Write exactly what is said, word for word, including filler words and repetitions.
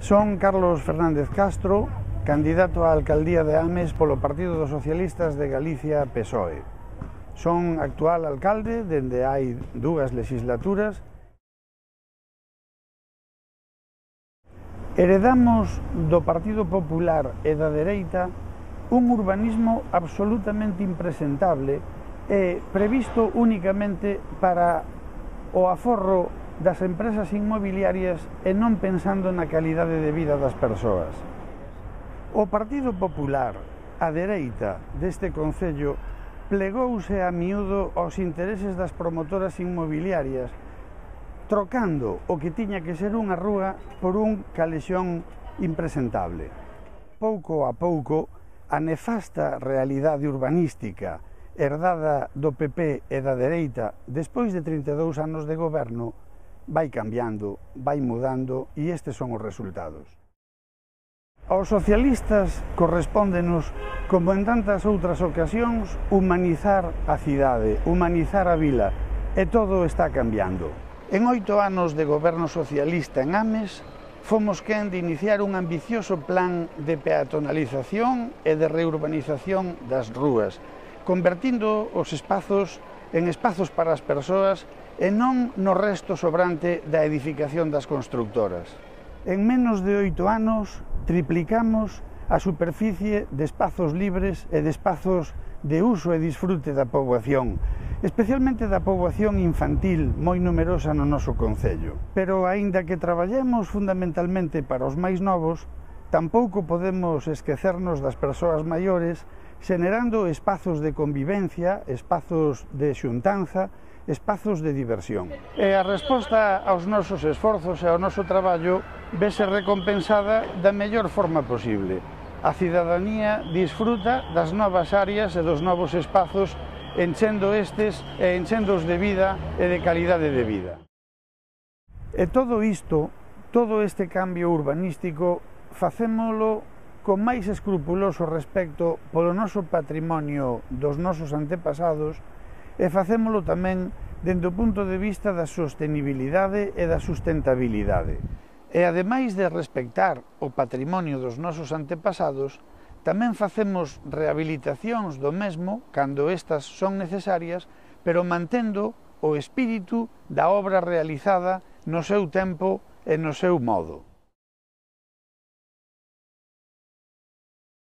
Son Carlos Fernández Castro, candidato á alcaldía de Ames polo Partido dos Socialistas de Galicia P S O E. Son actual alcalde dende hai dúas legislaturas. Heredamos do Partido Popular e da dereita un urbanismo absolutamente impresentable e previsto únicamente para o aforro das empresas inmobiliarias e non pensando na calidade de vida das persoas. O Partido Popular, a dereita deste concello, plegouse a miúdo aos intereses das promotoras inmobiliarias, trocando o que tiña que ser unha rúa por un calexón impresentable. Pouco a pouco, a nefasta realidade urbanística herdada do P P e da dereita despois de trinta e dous anos de goberno vai cambiando, vai mudando e estes son os resultados. Aos socialistas correspóndenos, como en tantas outras ocasións, humanizar a cidade, humanizar a vila, e todo está cambiando. En oito anos de goberno socialista en Ames, fomos quen de iniciar un ambicioso plan de peatonalización e de reurbanización das rúas, convertindo os espazos en espazos para as persoas e non no resto sobrante da edificación das constructoras. En menos de oito anos triplicamos a superficie de espazos libres e de espazos de uso e disfrute da poboación, especialmente da poboación infantil moi numerosa no noso concello. Pero, aínda que traballemos fundamentalmente para os máis novos, tampouco podemos esquecernos das persoas maiores, xenerando espazos de convivencia, espazos de xuntanza, espazos de diversión. E a resposta aos nosos esforzos e ao noso traballo vese recompensada da mellor forma posible. A cidadanía disfruta das novas áreas e dos novos espazos, enchendo estes e enchendos de vida e de calidade de vida. E todo isto, todo este cambio urbanístico, facémolo con máis escrupuloso respecto polo noso patrimonio dos nosos antepasados e facémolo tamén dende o punto de vista da sostenibilidade e da sustentabilidade. E ademais de respectar o patrimonio dos nosos antepasados, tamén facemos rehabilitacións do mesmo cando estas son necesarias, pero mantendo o espírito da obra realizada no seu tempo e no seu modo.